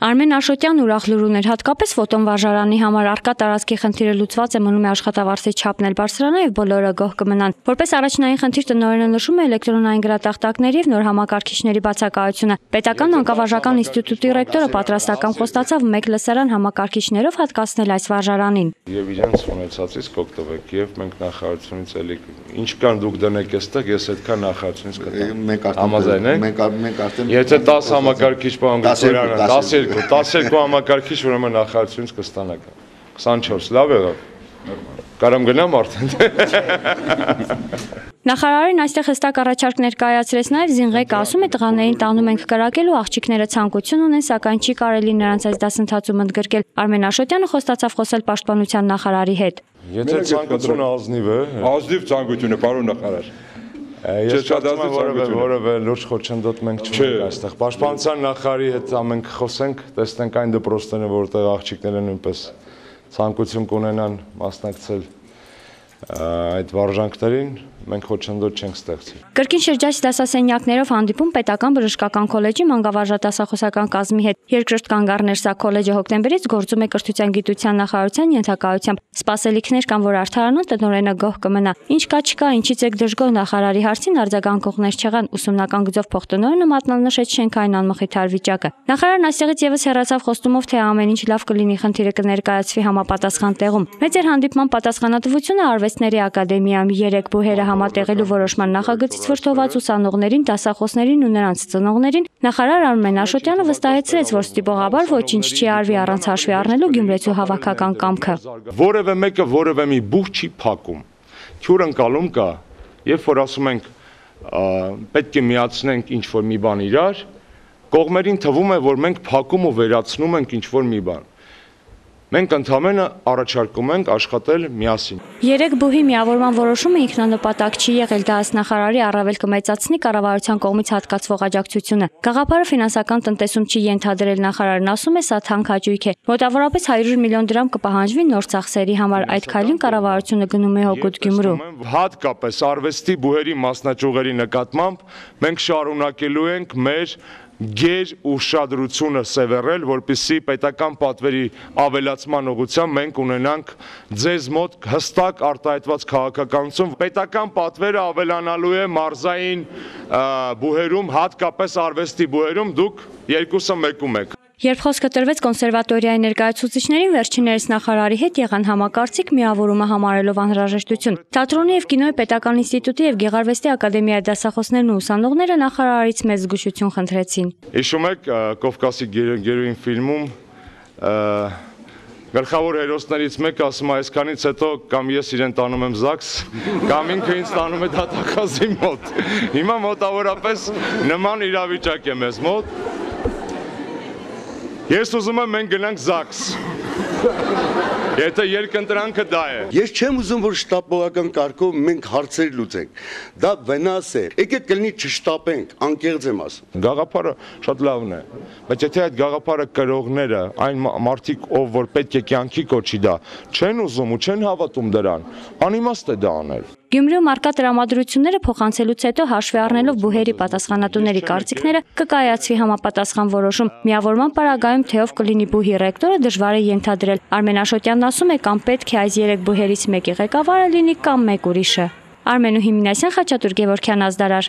Արմեն Աշոտյանն ուրախ լուր ուներ, հատկապես ֆոտոն վարժարանի համար առկա տարածքի խնդիրը լուծված է, մնում է աշխատավարձի չափն էլ բարձրանա եւ բոլորը գոհ կմնան։ Որպես առաջնային խնդիր տնօրենը նշում է էլեկտրոնային գրատախտակների եւ նոր համակարգիչների բացակայությունը։ Պետական մանկավարժական ինստիտուտի ռեկտորը պատրաստական խոստացավ 1 լսարան համակարգիչներով հատկացնել այս վարժարանին։ Եվ իրենց ունեցածից կօգտվեք եւ մենք նախարարությունից էլի ինչ կան դուք դնեք այստեղ, ես այդքան նախարարությունից կտամ։ Համաձայն եք։ Մենք արդեն եթե 10 համակարգիչ բան գտորան 12 համակարգիչ ուրեմն նախարարությունից կստանաք 24 լավ եղավ կարամ գնամ արդեն Նախարարին այստեղ հստակ առաջարկ ներկայացրեց նաև Զինղեկը ասում է տղաներին տանում ենք կրակելու աղջիկները ցանկություն ունեն սակայն չի կարելի նրանց այս դասընթացում ընդգրկել Արմեն Աշոտյանը խոստացավ խոսել պաշտպանության նախարարի հետ Եթե ցանկությունը ազնիվ է ազնիվ ցանկություն է պարոն նախարար Ես չկատացի որևէ լուրջ խոչընդոտ մենք չունենք այստեղ Պաշտպանության նախարարի հետ ամենք խոսենք տեսնենք այն դպրոցները որտեղ աղջիկները նույնպես ցանկություն կունենան մասնակցել այդ վարժանքներին մենք խոչընդոտ չենք ստեղծել Կրկին շրջայց դասասենյակներով հանդիպում պետական բժշկական քոլեջի մանկավարժատասախոսական կազմի հետ երկրորդ կանգառներ սա քոլեջը հոկտեմբերից գործում է կրթության գիտության նախարարության ենթակայությամբ սպասելիքներ կան որ արդարանան տնօրենը գոհ կմնա ինչ կա չկա ինչից եք դժգոհ նախարարի հարցին արձագանքողներ չեղան ուսումնական գծով փոխտնօրենը մատնանշեց շենքային անմխիթար վիճակը նախարարն այստեղից եւս հեռացավ խոստումով թե ամեն ինչ լավ կլինի խնդիրը կներկայացվի համապատասխան տեղում մեծ էր հանդիպման պատասխանատվությունը արվեստների ակադեմիայում 3 բուհերը համատեղելու որոշման նախագծից վրդոված ուսանողներին, դասախոսներին ու նրանց ծնողներին նախարար Արմեն Աշոտյանը վստահեցրեց, որ ստիպողաբար ոչինչ չի արվի առանց հաշվի առնելու Գյումրեցու հավաքական կամքը։ Որևէ մեկը որևէ մի բուխ չի փակում։ Քյուր ընկալում կա, երբ որ ասում ենք պետք է միացնենք ինչ-որ մի բան իրար, կողմերին թվում է, որ մենք փակում ու վերացնում ենք ինչ-որ մի բան։ Մենք ընդհանրապես առաջարկում ենք աշխատել միասին։ 3 բուհի միավորման որոշումը ինքնանպատակ չի եղել, դա ըստ նախարարի առավել կմեծացնի կառավարության կողմից հատկացվող աջակցությունը։ Գաղափարը ֆինանսական տնտեսում չի ենթադրել նախարարն ասում է, սա թանկ հաճույք է։ Մոտավորապես 100 միլիոն դրամ կպահանջվի նոր ծախսերի համար, այդ քայլին կառավարությունը գնում է հօգուտ Գյումրու։ Հատկապես արվեստի բուհերի մասնաճյուղերի նկատմամբ մենք շարունակելու ենք մեր գեր ուշադրությունը սևեռել, որպեսզի պետական պատվերի ավելացման ուղղությամբ մենք ունենանք ձեզ մոտ հստակ արտահայտված քաղաքականություն։ Պետական պատվերը ավելանալու է մարզային բուհերում, հատկապես արվեստի բուհերում, դուք երկուսը մեկում եք։ Երբ խոսքը տրվեց կոնսերվատորիայի ներկայացուցիչներին, վերջիններս նախարարի հետ եղան համակարծիք միավորումը համարելով անհրաժեշտություն։ Թատրոնի եւ կինոյի պետական ինստիտուտի եւ Գեղարվեստի ակադեմիայի դասախոսներն ու ուսանողները նախարարից մեծ զգուշություն խնդրեցին։ Հիշում եք Կովկասի գերոին ֆիլմում Գլխավոր հերոսներից մեկը ասում է այսքանից հետո կամ ես իրեն տանում եմ ԶԱԳՍ, կամ ինքը ինձ տանում է դատախազի մոտ։ Հիմա մոտավորապես նման իրավիճակ է մեզ մոտ։ Ես ուզում եմ մենք գնանք ԶԱԳՍ, եթե երկընտրանքը դա է։ Ես չեմ ուզում, որ շտապողական կարգով մենք հարցեր լուծենք, դա վնաս է, եկեք կլինի չշտապենք, անկեղծ եմ ասում։ Գաղափարը շատ լավն է, բայց եթե այդ գաղափարը կրողները, այն մարդիկ, ով որ պետք է կյանքի կոչի դա, չեն ուզում ու չեն հավատում դրան, անիմաստ է դա անել։ Գյումրիում արկա տրամադրությունները փոխանցելուց հետո հաշվի առնելով բուհերի պատասխանատուների կարծիքները կկայացվի համապատասխան որոշում։ Միավորման պարագայում թե ով կլինի բուհի ռեկտորը դժվար է ենթադրել։ Արմեն Աշոտյանն ասում է կամ պետք է այս 3 բուհերից մեկի ղեկավարը լինի կամ մեկ ուրիշը։ Արմենու Հիմինասյան, Խաչատուր Գևորգյան, Ազդարար։